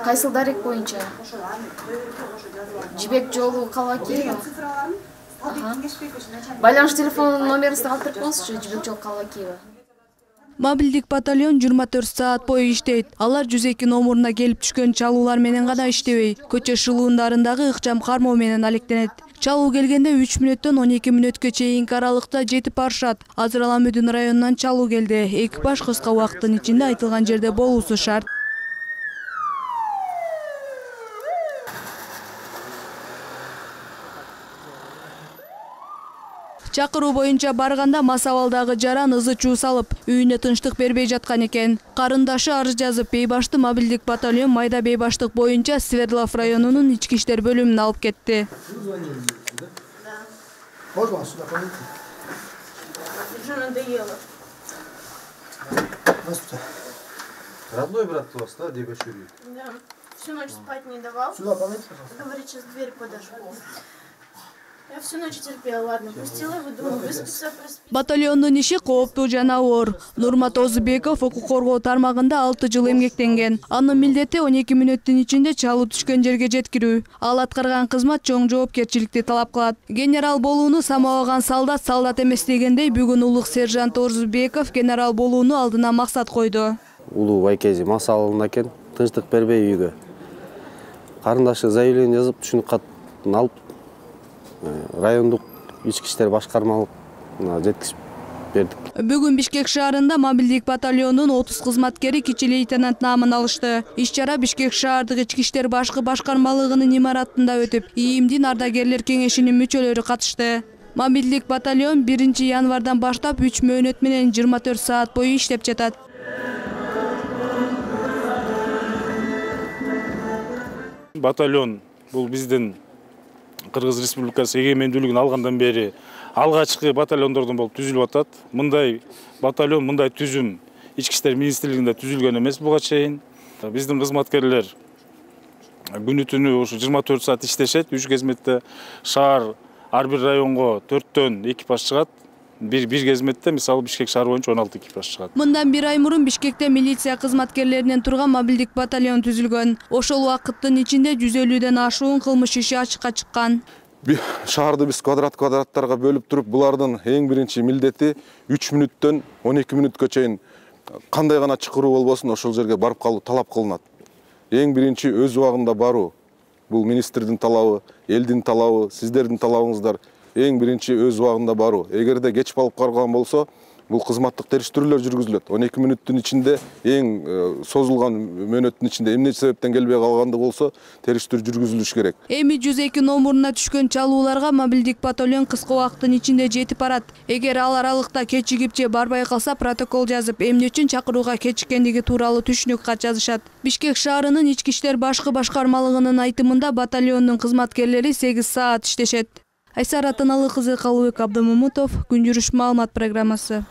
Кайсыл дарек боюнча? Жибек жолу Калбакиева. Байланыш телефонунун номерин калтырып коңузчу, Жибек жолу Калбакиева. Мобилдик батальон 24 саат бою иштейт. Алар 102 номуруна келип түшкөн чалуулар менен гана иштебей, көчө шылуундарындагы ыкчам кармоо менен алектенет. Чалуу келгенде 3 мүнөттөн 12 мүнөткө чейинки аралыкта жетип барышат. Азыр Аламүдүн районунан чалуу келди. Экипаж кыска убакыттын ичинде айтылган жерде болуусу шарт. Чакыруу боюнча барганда мас абалдагы жаран ызы-чуу салып, үйүнө тынчтык бербей жаткан экен. Карындашы арыз жазып, Бейбашты мобилдик батальон Майда Бейбаштык боюнча Свердлов районунун ички иштер бөлүмүнө алып кетти. Родной брат у вас, да, дядя Шурий? Да. Всю ночь спать не давал. Говорит, сейчас дверь подожгу. Я всю ночь терпела, ладно, пустила его, думаю, выспится, проспит. Батальондун иши кооптуу жана оор. Нурмат Озубеков укук коргоо тармагында 6 жыл эмгектенген. Анын милдети 12 мүнөттүн ичинде чалуу түшкөн жерге жеткирүү. Ал аткарган кызмат чоң жоопкерчиликти талап кылат. Генерал болууну самабаган солдат эмес дегендей, бүгүн улук сержант Озубеков генерал болууну алдына максат койду. Улуу байкези мас алынды экен, тынчтык бербей үйгө. Карындашы заявление жазып, түшүнүк катын алып, райондук ички иштер башкармалыгына жеткизип бердик. Бүгүн Бишкек шаарында мобилдик батальондун 30 кызматкери кичи лейтенант наамын алышты. Иш-чара Бишкек шаардык ички иштер башкы башкармалыгынын имаратында өтүп, ИИМдин ардагерлер кеңешинин мүчөлөрү катышты. Мобилдик батальон 1 январдан баштап 3 мөөнөт менен 24 саат бою иштеп жатат. Батальон бул биздин Кыргыз Республикасы эгемендүүлүгүн алгандан бери алгачкы батальондордон болуп түзүлүп атат. Мындай батальон, мындай түзүм Ички иштер министрлигинде түзүлгөн эмес буга чейин. Биздин кызматкерлер күнү-түнү ушу 24 саат иштешет. 3 кезметте шаар ар бир районго 4төн экипаж чыгат. Bir кезметте мисалы Бишкек шаар боюнча 16 экипаж чыгат. Мындан 1 ай мурун Бишкекте милиция кызматкерлеринен турган мобилдик батальон түзүлгөн. Ошол убакыттын ичинде 150ден ашуун кылмыш иши ачыкка чыккан. Шаарды биз квадраттарга бөлүп туруп, булардын эң биринчи милдети 3 мүнөттөн 12 мүнөткө чейин кандай гана чакыруу болбосун ошол жерге барып калуу талап кылынат. Эң биринчи өз убагында баруу. Бул министрдин талабы, элдин талабы, сиздердин талабыңыздар. Эң биринчи өз убагында баруу. Эгерде кеч барып калган болсо, бул кызматтык териштирүүлөр жүргүзүлөт. 12 мүнөттүн ичинде эң созулган мөөнөттүн ичинде эмне себептен келбей калганды болсо, териштирүү жүргүзүлүш керек. Эми 102 номуруна түшкөн чалууларга мобилдик батальон кыска убакыттын ичинде жетип барат. Эгер ал аралыкта кечигип же барбай калса, протокол жазып, эмне үчүн чакырууга кечиккендиги тууралуу түшүнүк кат жазышат. Бишкек шаарынын ички иштер башкы башкармалыгынын айтымында батальондун кызматкерлери 8 саат иштешет. Айсара Атаналы кызы, Калыбек Абдымамутов, Күн жүрүш маалымат программасы.